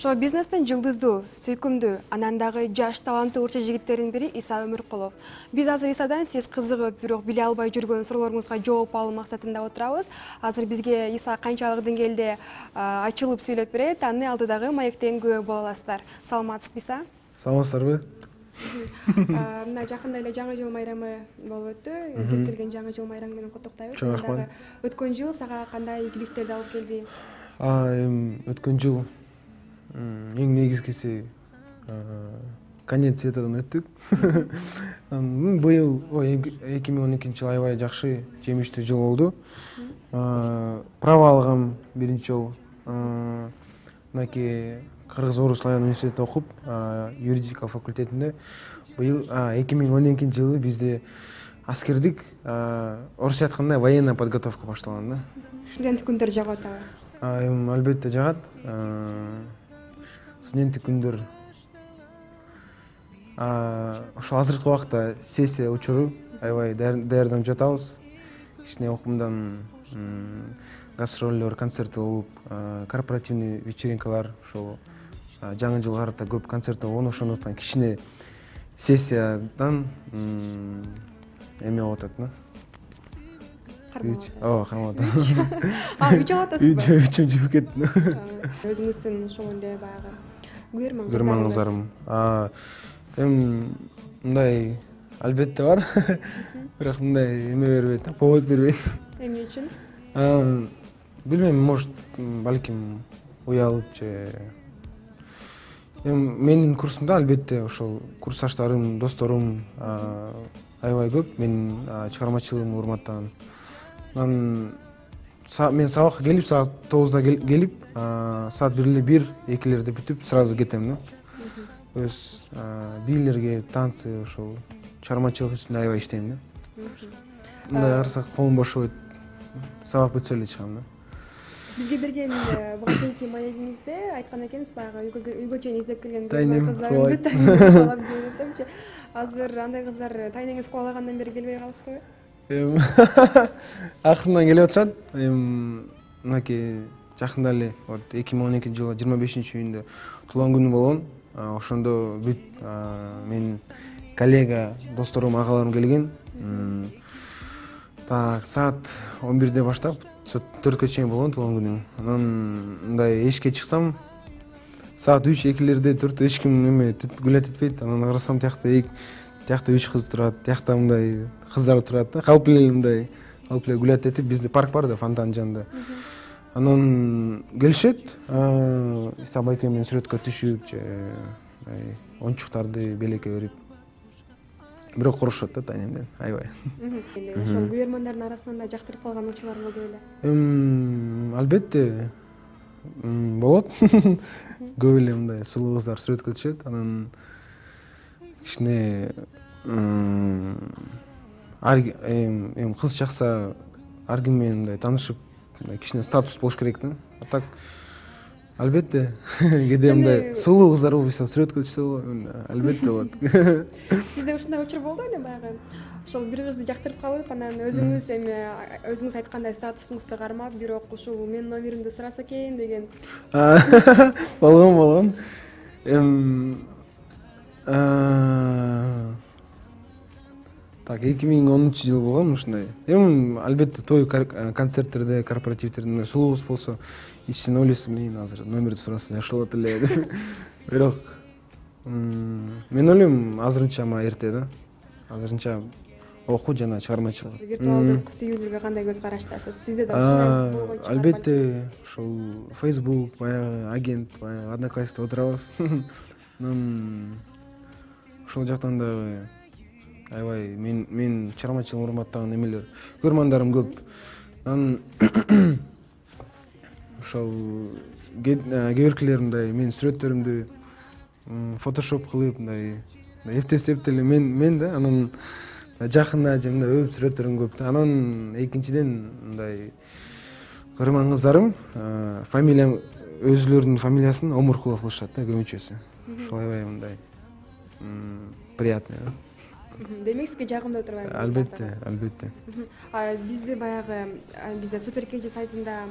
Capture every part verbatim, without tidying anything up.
Шоу бизнестен жылдыздуу, сүйкүмдүү, анан дагы жаш таланттуу урча жигиттердин бири Иса Өмүркулов. Биз азыр Исадан сиз кызыгып, бирок биле албай жүргөн суроолоруңузга жооп алуу максатында отурабыз. Азыр бизге Иса канчалык деңгээлде ачылып сүйлөп берет, аны алдыдагы маектен күбө боло аласыздар. Саламатсызбы, Иса? Саламатсыздарбы? Мына жакында эле жаңы жыл майрамы болуп өттү. Кеп келген жаңы жыл майрамы менен куттуктайбыз. Чоң рахмат. Өткөн жыл сага кандай ийгиликтерди алып келди? Өткөн жыл эң негизгиси конец светодон өттүк. Быйыл эки миң он экинчи жыл аябай жакшы, жемиштүү жыл болду. Право алгам биринчи жолу. Мынакей Кыргыз Орус Славян университетинде окуп, юридика факультетинде. Быйыл эки миң он экинчи жылы бизде аскердик, орусча айтканда военная подготовка башталган да. Студенттик күндөр жагат атабы? Албетте жагат. Студенттик күндөр ошо азыркы убакта сессия учуру аябай даярданып жатабыз. Кичине окумдан гастроллор, концерт болуп, корпоративный вечеринкалар, ошол жаңы жылга карата көп концерттер болгон, ошондуктан кичине сессиядан эме болуп атат да. Ооба, кармап атат. А, үч алып атасызбы? Үчүм жибип кетти. Өзүңүздүн ошол эле баягы көрөрман көрөрман кыздарым. Эми мындай албетте бар. Бирок мындай эме бербейт, повод бербейт. Эмне үчүн? Билбейм, может, балким уялып же. Эми менин курсумда албетте ошол курсташтарым, досторум аябай көп. Менин чыгармачылыгымды урматтаган. Мен сабакка келип, саат тогузда келип, саат бир эле бир, экилерде бүтүп, сразу кетем да. Өз бийлерге, танцы, ошол чыгармачылык үстүндө аябай иштейм да. Мындай карасак колум бошобойт. Сабак бүтсө эле чыгам да. Бизге берген буга чейинки маегиңизде айткан экенсиз, баягы үйгө чейин издеп келген кыздарымды кубалап жүрөтөмчү. Азыр андай кыздар тайнеңиз кубалагандан бери келбей калышпайбы? Акырындан келип атышат. Эми мынакей жакында эле вот эки миң он экинчи жылы жыйырма бешинчи июнда туулган күнү болгон. Ошондо бүт менин коллега, досторум, агаларым келген. Так, саат он бирде баштап төрткө чейин болгон туулган күнүм. Анан мындай эшикке чыксам, саат үч экилерде төрттө эч ким эме гүлөт этпейт. Анан карасам, тиякта тиякта үч кыз турат, тиякта мындай кыздар турат да. Калп эле мындай калп эле гүлөт этип, бизде парк бар да, фонтан жанында. Анан келишет, Иса байке менен сүрөткө түшүп, же оюнчуктарды белекке берип. Бирок корушот да тайнемден, аябай. Ошол көрөрмандардын арасынан да жактырып калган учурлар болду беле? Эм, албетте болот. Көп эле мындай сулуу кыздар сүрөткө түшөт, анан кичине эми кыз чакса ар ким менен мындай таанышып, кичине статус болуш керек да. А так албетте кээде мындай сулуу кыздар болуп сүрөткө түшсө болот, албетте болот. Сизде ушундай учур болду беле баягы? Ошол бир кызды жактырып калып, анан өзүңүз эми өзүңүз айткандай статусуңузду кармап, бирок ушул менин номеримди сураса экен деген. Болгон, болгон. Эми так, эки миң онунчу жыл болгон ушундай. Эми албетте той концерттерде, корпоративдерде сулуу кыз болсо, ичинен ойлойсуң, мен азыр номерди сураса жакшы болот эле деп. Бирок мен ойлойм, азырынча ма эрте да. Азырынча окуу жана чыгармачылык. Виртуалдык сүйүүлүгү кандай көз караштасыз? Сизде да ушундай болгон чыгар? Албетте, ошол Facebook, баягы агент, баягы Одноклассникте отурабыз. Анан ошол жактан дагы аябай мен мен чыгармачылыгын урматтаган эмелер, көрөрмандарым көп. Анан ошол кээбиркилер мындай менин сүрөттөрүмдү фотошоп кылып, мындай эптеп-эптеп эле мен мен да, анан жакында же мындай өп сүрөттөрүм көп да. Анан экинчиден мындай көрөрман кыздарым фамилия өзүлөрүнүн фамилиясын Омуркулов кылышат да, көбүнчөсү. Ошол аябай мындай приятный да. Демек сизге жагымдуу турбайбы? Албетте, албетте. Бизде баягы бизде Супер Кеже сайтында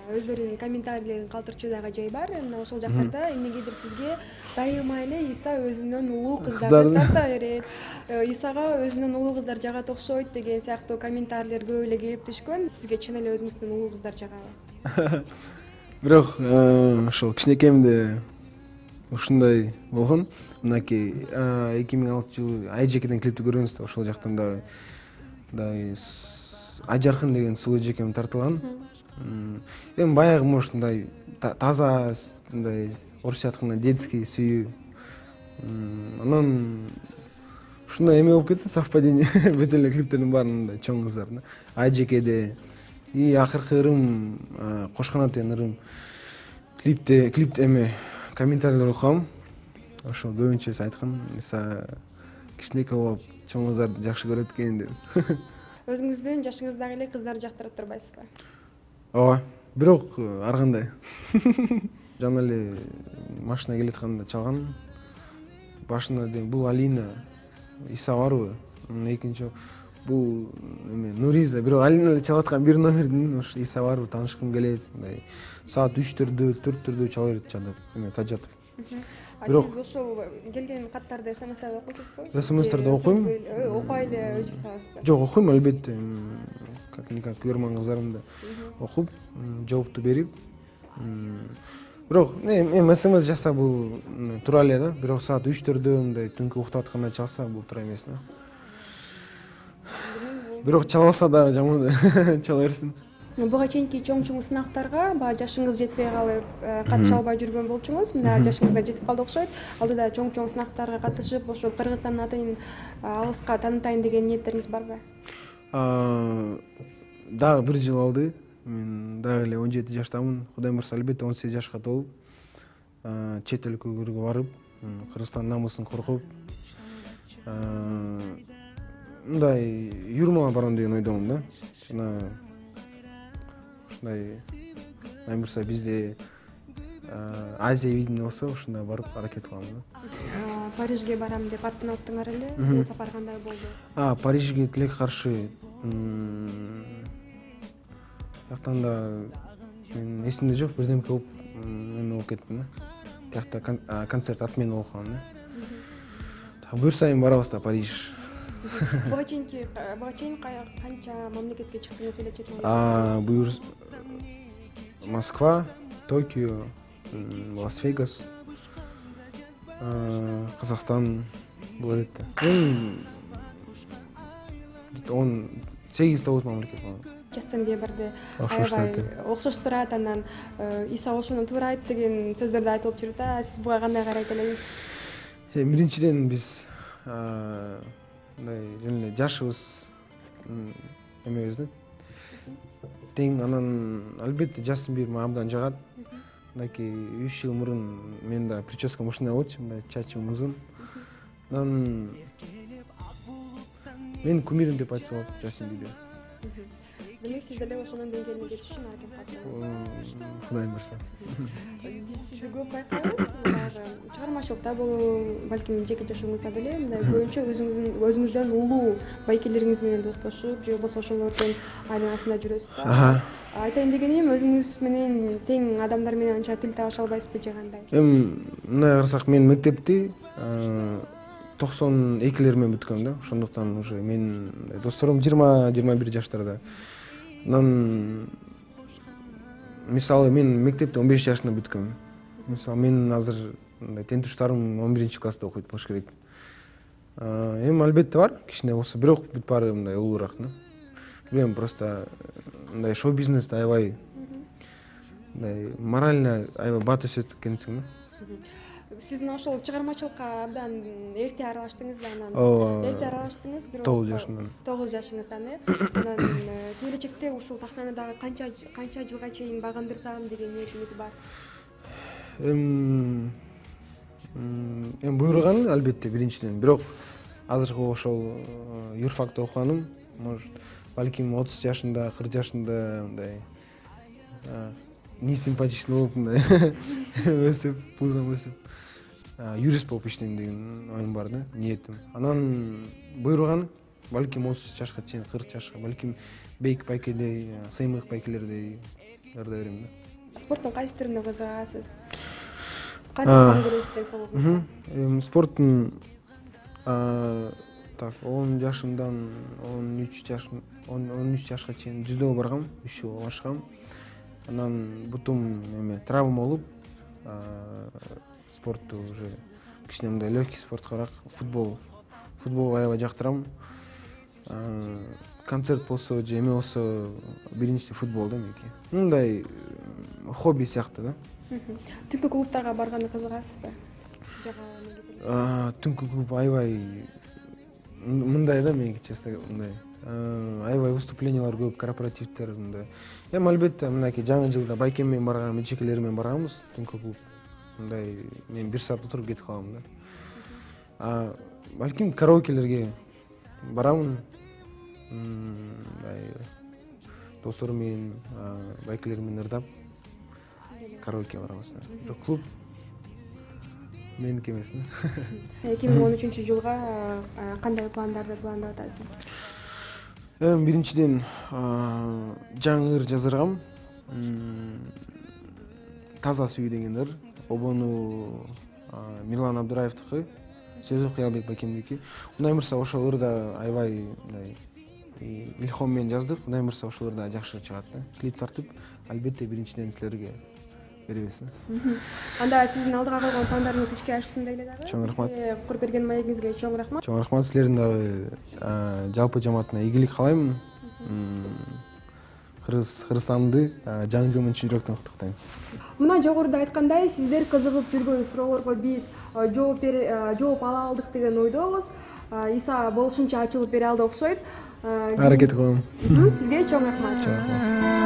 өздөрүнүн комментарийлерин калтырчу дагы жай бар. Мына ошол жактарда эмнегедир сизге дайыма эле Иса өзүнөн улуу кыздарды тарта берет. Исага өзүнөн улуу кыздар жагат окшойт деген сыяктуу комментарийлер көп эле келип түшкөн. Сизге чын эле өзүңүздөн улуу кыздар жагабы? Бирок ошол кичинекейимде ушундай болгон. Мынакей эки миң алтынчы жылы Айжекеден клипти көргөнсүз да, ошол жактан дагы мындай Айжаркын деген сулуу эжекем тартылган. Эми баягы может мындай таза, мындай орусча айтканда детский сүйүү. Анан ушундай эме болуп кетти, совпадение. Бүт эле клиптердин баары мындай чоң кыздар да. Айжекеде и акыркы ырым Кошканат деген ырым клипте клипте эме комментарийлер окугам. Ошол көбүнчөсү айткан, Иса кичинекей болуп чоң кыздарды жакшы көрөт экен деп. Өзүңүздүн жашыңыздагы эле кыздарды жактырып турбайсызбы? Ооба, бирок ар кандай. Жана эле машина келатканда чалган. Башында дейм бул Алина, Иса барбы? Экинчи бул эме Нуриза, бирок Алина эле чалаткан бир номердин ушу Иса барбы, таанышкым келет, мындай саат үчтөрдө, төрттөрдө чала берет чалып, эме тажатып. Бирок сиз ошол келген каттарды смстарда окуйсузбу? СМСтерде окуйм. Окуй эле өчүрүп саласызбы? Жок, окуйм албетте. Как никак көрмөн кыздарымды окуп, жоопту берип. Бирок эми СМС жаса бул тура эле да, бирок саат үчтөрдө мындай түнкү уктап атканда чалса бул туура эмес да. Бирок чалбаса да жаман чала берсин. Буга чейинки чоң-чоң сынактарга баягы жашыңыз жетпей калып катыша албай жүргөн болчуңуз. Мына жашыңыз да жетип калды окшойт. Алдыда чоң-чоң сынактарга катышып, ошол Кыргызстандын атын алыска таанытайын деген ниеттериңиз барбы? Дагы бир жыл алды. Мен дагы эле он жети жаштамын. Кудай буюрса албетте он сегиз жашка толуп, чет өлкөгө барып, Кыргызстандын намысын коргоп, мындай юрмалга барам деген ойдомун да. Жана ушундай кудай буюрса бизде Азия видение болсо ушундай барып аракет кылам да. Парижге барам деп аттанып аттыңар эле. Бул сапар кандай болду? А, Парижге тилек каршы. Жактан да мен эсимде жок, бирдемке болуп эме болуп кеттим да. Тиякта концерт отмена болуп калган да. Так буюрса эми барабыз да Париж. Буга чейинки буга чейин канча мамлекетке чыктыңыз эле чет мамлекетке? А, буюр Москва, Токио, Лас-Вегас, Казакстан бул элет да. Эми он сегиз тогуз мамлекет бар. Жастан бери аябай окшош турат, анан Иса ошону туура айт деген сөздөрдү айтып жүрүп да. Сиз буга кандай карайт элеңиз? Биринчиден биз мындай жөн эле жашыбыз эмебиз да. Тең, анан албетте жашым бир мага абдан жагат. Мынакей үч жыл мурун мен да прическам ушундай болчу, мындай чачым узун. Анан мен кумирим деп айтса болот Жасин Бибер. Демек сиз деле ошонун деңгээлине жетиш үчүн аракет кылдыңыз. Кудай буюрса. Биз сизди көп байкайбыз. Баягы чыгармачылыкта болобу, балким жеке жашооңузда деле мындай көбүнчө өзүңүздүн өзүңүздөн улуу байкелериңиз менен достошуп, же болбосо ошолордун айланасында жүрөсүз да. Айтайын дегеним, өзүңүз менен тең адамдар менен анча тил табыша албайсызбы же кандай? Эми мындай карасак, мен мектепти токсон экилер менен бүткөм да. Ошондуктан уже мен досторум жыйырма жыйырма бир жаштарда. Анан мисалы мен мектепти он беш жашында бүткөм. Мисалы мен азыр мындай тең туштарым он биринчи класста окуйт болуш керек. Эми албетте бар, кичине болсо, бирок бүт баары мындай улуураак да. Билем, просто мындай шоу бизнесте аябай мындай морально аябай бат өсөт экенсиң да. Сиз мына ошол чыгармачылыкка абдан эрте аралаштыңыз да, анан эрте аралаштыңыз, бирок тогуз жашымдан. тогуз жашыңыздан, э? Анан келечекте ушул сахнаны дагы канча канча жылга чейин багындырсам деген ниетиңиз бар? Эми эми буйруган албетте биринчиден, бирок азыркы ошол юрфакты окуганым, может, балким отуз жашында, кырк жашында мындай не симпатичный болуп мындай өсүп, пузом өсүп юрист болуп иштейм деген оюм бар да, ниетим. Анан буйруган балким отуз жашка чейин, кырк жашка, балким бейик байкедей, сыймык байкелердей ырда берем да. Спорттун кайсы түрүнө кызыгасыз? Кандай көрөсүз денсаулыгыңызга? Эми спорттун так он жашымдан он үч жаш он үч жашка чейин жүздөгө баргам, үч жыл башкам. Анан бутум эме травма болуп, спортту уже кичине мындай легкий спорткарак, футбол футболду аябай жактырам. Концерт болсо же эме болсо биринчи футбол да меники. Мындай хобби сыяктуу да. Түнкү клубтарга барганы кызыгасызбы? Түнкү клуб аябай мындай да меники, честно, мындай аябай выступлениялар көп, корпоративдер мындай. Эми албетте мынакей жаңы жылда байкем менен барган, эчекелер менен барганбыз түнкү клуб. Мындай мен бир саат отуруп кетип калам да. Балким караокелерге барамын. Досторум менен, байкелер менен ырдап караоке барабыз. Бирок клуб меники эмес да. эки миң он үчүнчү жылга кандай пландарды пландап атасыз? Эми биринчиден жаңы ыр жаздыргам. Таза сүй деген ыр. Обону Мирлан Абдыраевдики, Сезу Кыялбек байкемдики. Кудай мырза ошол ырда аябай мындай илхом менен жаздык. Кудай мырза ошол ырда жакшы чыгат да. Клип тартып, албетте биринчиден силерге беребиз. Анда сиздин алдыга койгон пландарыңыз ишке ашсын дейли дагы. Чоң рахмат. Куруп берген маегиңизге чоң рахмат. Чоң рахмат. Силердин дагы жалпы жамаатына ийгилик каалайм. Кыргызстанды жаңы жыл менен чын жүрөктөн куттуктайм. Мына жогоруда айткандай, сиздер кызыгып жүргөн суроолорго биз жооп жооп ала алдык деген ойдобуз. Иса болушунча ачылып бере алды окшойт. Аракет кылам. Сизге чоң рахмат.